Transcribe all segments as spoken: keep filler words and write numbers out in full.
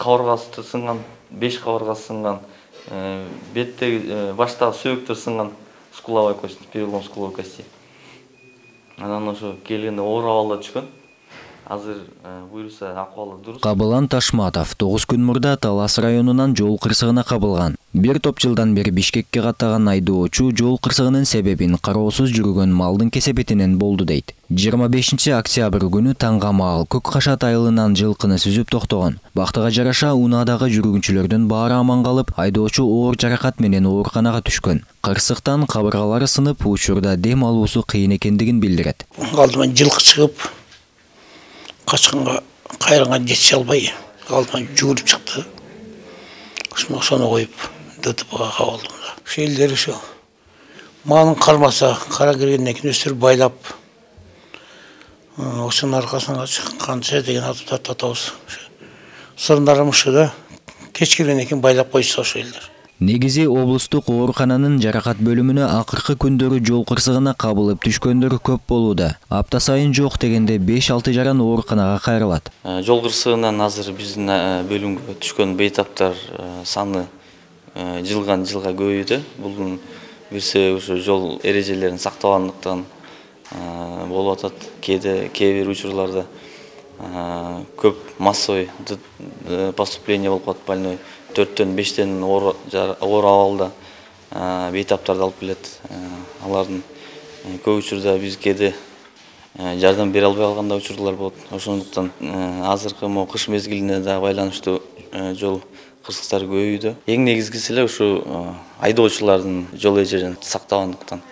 кабыргасы сынган, беш кабыргасы сынган, беттеги баштагы сөөктөр сынган скуловой кость, перелом скуловой кости. Анан ошо келгенде оор абалда түшкөн. Азыр буюрса акыбалы дурус. Кабылан Ташматов тогуз күн мурда Талас районунан жол кырсыгына кабылган. Бир топ жылдан бери Бишкекке каттаган айдоочу жол кырсыгынын себебин кароосуз жүргөн малдын кесепетинен болду дейт. жыйырма бешинчи октябрь күнү таңга маал Көк Кашат айылынан жылкыны сүзүп токтогон. Бактыга жараша унаадагы жүргүнчүлөрдүн баары аман калып, айдоочу оор жаракат менен ооруканага түшкөн. Кырсыктан кабыргалары сынып, учурда дем алуусу кыйын экендигин билдирет. Алдыман жылкы чыгып, качканга кайраңга жете албай, алдыман жүгүрүп чыкты. Ошону коюп, ДТПга кабылдым да. Ошо элдер ошо малын кармаса, кара киргенден кийин өстүрүп байлап, ошонун аркасынан канча деген атып атабыз. Сырындарым ушул да кеч киргенден кийин байлап койчу ошо элдер. Негизи облустук оорукананын жаракат бөлүмүнө акыркы күндөрү жол кырсыгына кабылып түшкөндөр көп болууда. Апта сайын жок дегенде беш алты жаран ооруканага кайрылат. Жол кырсыгынан азыр биздин бөлүмгө түшкөн бейтаптар саны жылган жылга көбөйдү. Бул бир себеби ушу жол эрежелерин сактабагандыктан болуп атат. Кээде кээ бир учурларда көп массовый поступление болуп калат, больной төрттөн бештен оор абалда бейтаптарды алып келет. Алардын көп учурда биз кээде жардам бере албай калган учурлар болот. Ошондуктан азыркы могу кыш мезгилине да байланыштуу жол кырсыктары көбөйдү. Эң негизгиси эле ушу айдоочулардын жол эрежелерин сактабагандыктан.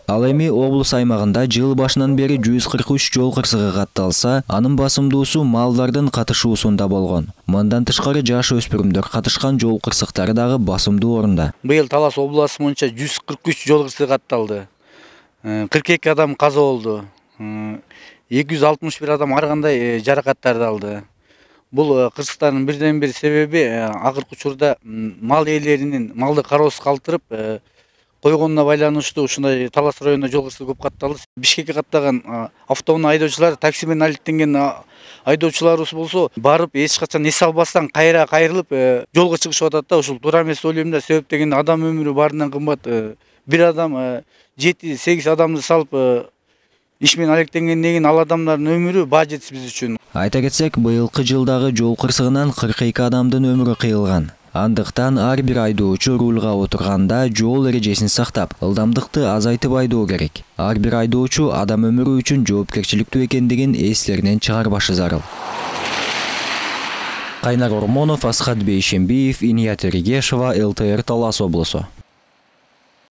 Ал эми облус аймагында жыл башынан бери жүз кырк үч жол кырсыгы катталса, анын басымдуусу малдардын катышуусунда болгон. Мындан тышкары жаш өспүрүмдөр катышкан жол кырсыктары дагы басымдуу орунда. Быйыл Талас областы боюнча жүз кырк үч жол кырсыгы катталды. кырк эки адам каза болду. эки жүз алтымыш бир адам ар кандай жаракаттарды алды. Бул кырсыктардын бирден бир себеби акыркы учурда мал ээлеринин малды кароосуз калтырып койгонуна байланыштуу ушундай Талас районунда жол кырсыгы көп катталды. Бишкекке каттаган автоунаа айдоочулар, такси менен алектенген айдоочуларыбыз болсо, барып эч качан эс албастан кайра кайрылып жолго чыгышып атат да. Ушул туура эмес деп ойлойм да. Себеп дегенде адам өмүрү баарынан кымбат. Бир адам жети сегиз адамды салып иш менен алектенгенден кийин ал адамдардын өмүрү баа жетсиз биз үчүн. Айта кетсек, быйылкы жылдагы жол кырсыгынан кырк эки адамдын өмүрү кыйылган. Андыктан ар бир айдоочу рулга отурганда жол эрежесин сактап, ылдамдыкты азайтып айдоо керек. Ар бир айдоочу адам өмүрү үчүн жоопкерчиликтүү экендигин эслеринен чыгарбашы зарыл. Кайнар Ормонов, Асхат Бейшембиев, Иният Эргешова, эл тэ эр Талас облусу.